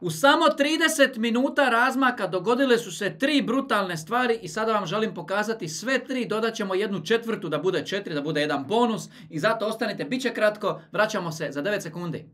U samo 30 minuta razmaka dogodile su se 3 brutalne stvari i sada vam želim pokazati sve 3, dodat ćemo jednu četvrtu da bude 4, da bude jedan bonus i zato ostanite, bit će kratko, vraćamo se za 9 sekundi.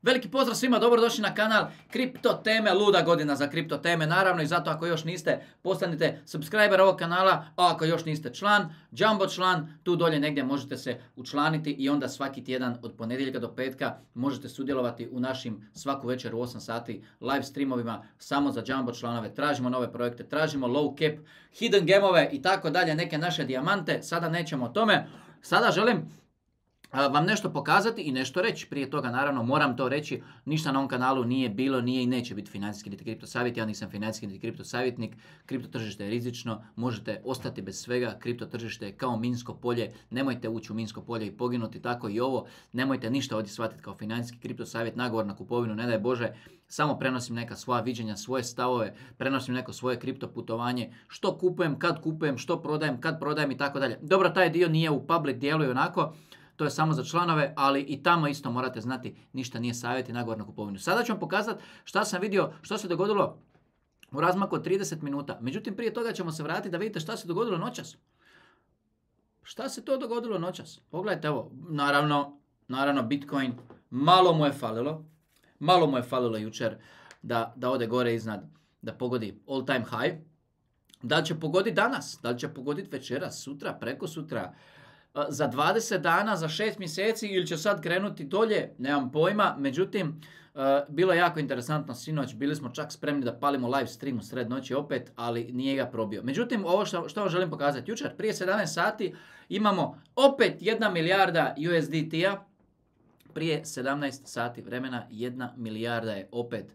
Veliki pozdrav svima, dobrodošli na kanal Kripto teme, luda godina za kripto teme, naravno i zato ako još niste, postanite subscriber ovog kanala, a ako još niste član, Jumbo član, tu dolje negdje možete se učlaniti i onda svaki tjedan od ponedjeljka do petka možete sudjelovati u našim svaku večer u 8 sati live streamovima samo za Jumbo članove. Tražimo nove projekte, tražimo low cap, hidden gemove i tako dalje, neke naše dijamante, sada nećemo o tome, sada želim vam nešto pokazati i nešto reći. Prije toga, naravno, moram to reći, ništa na ovom kanalu nije bilo, nije i neće biti financijski niti kripto savjet, ja nisam financijski niti kripto savjetnik, kripto tržište je rizično, možete ostati bez svega, kripto tržište je kao minsko polje, nemojte ući u minsko polje i poginuti, tako i ovo, nemojte ništa ovdje shvatiti kao financijski kripto savjet, nagovor na kupovinu, ne daj Bože, samo prenosim neka svoja viđenja, svoje stavove, prenosim neko svoje kripto putovanje, što kupujem, što prodajem, kad prodajem i tako dalje. Dobro, taj dio nije u public dijelu i onako, to je samo za članove, ali i tamo isto morate znati, ništa nije savjet i nagovor na kupovinu. Sada ću vam pokazati šta sam vidio, što se dogodilo u razmaku od 30 minuta. Međutim, prije toga ćemo se vratiti da vidite šta se dogodilo noćas. Šta se to dogodilo noćas? Pogledajte, evo, naravno Bitcoin, malo mu je falilo jučer da ode gore iznad, da pogodi all time high. Da li će pogoditi danas? Da li će pogoditi večeras, sutra, prekosutra? Za 20 dana, za 6 mjeseci ili će sad krenuti dolje, nemam pojma. Međutim, bilo je jako interesantno sinoć, bili smo čak spremni da palimo live stream u sred noći opet, ali nije ga probio. Međutim, ovo što vam želim pokazati, jučer prije 17 sati imamo opet 1 milijarda USDT-a, prije 17 sati vremena 1 milijarda je opet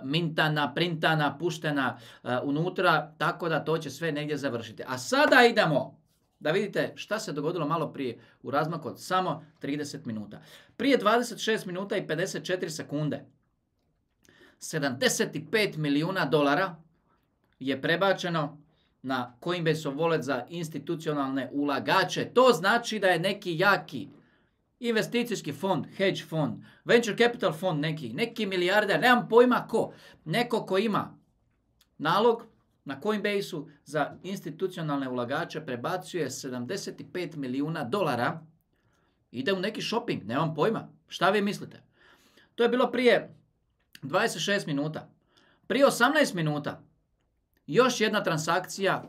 mintana, printana, puštena unutra, tako da to će sve negdje završiti. A sada idemo da vidite šta se dogodilo malo prije u razmaku od samo 30 minuta. Prije 26 minuta i 54 sekunde 75 milijuna dolara je prebačeno na Coinbase wallet za institucionalne ulagače. To znači da je neki jaki investicijski fond, hedge fond, venture capital fond neki milijarder, nemam pojma ko, neko ko ima nalog na Coinbase-u za institucionalne ulagače prebacuje 75 milijuna dolara, ide u neki shopping, nemam pojma. Šta vi mislite? To je bilo prije 26 minuta. Prije 18 minuta još jedna transakcija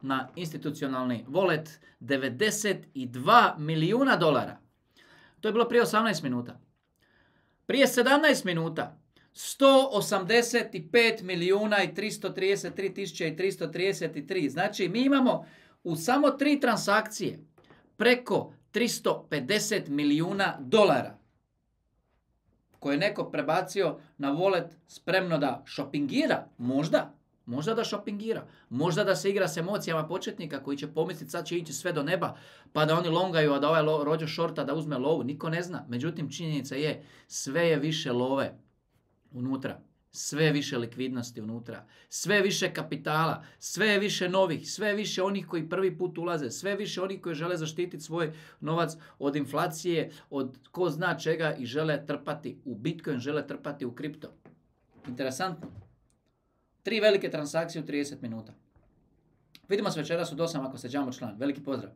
na institucionalni wallet, 92 milijuna dolara. To je bilo prije 18 minuta. Prije 17 minuta 185 milijuna i 333 tisuće i 333. Znači, mi imamo u samo 3 transakcije preko 350 milijuna dolara koje je neko prebacio na wallet spremno da šopingira. Možda da šopingira. Možda da se igra s emocijama početnika koji će pomisliti sad će ići sve do neba pa da oni longaju, a da ovaj rođo šorta da uzme lovu. Niko ne zna. Međutim, činjenica je sve je više love unutra, sve više likvidnosti unutra, sve više kapitala, sve više novih, sve više onih koji prvi put ulaze, sve više onih koji žele zaštititi svoj novac od inflacije, od ko zna čega i žele trpati u Bitcoin, žele trpati u kripto. Interesantno. 3 velike transakcije u 30 minuta. Vidimo se večeras u 8 ako ste Jumbo član. Veliki pozdrav!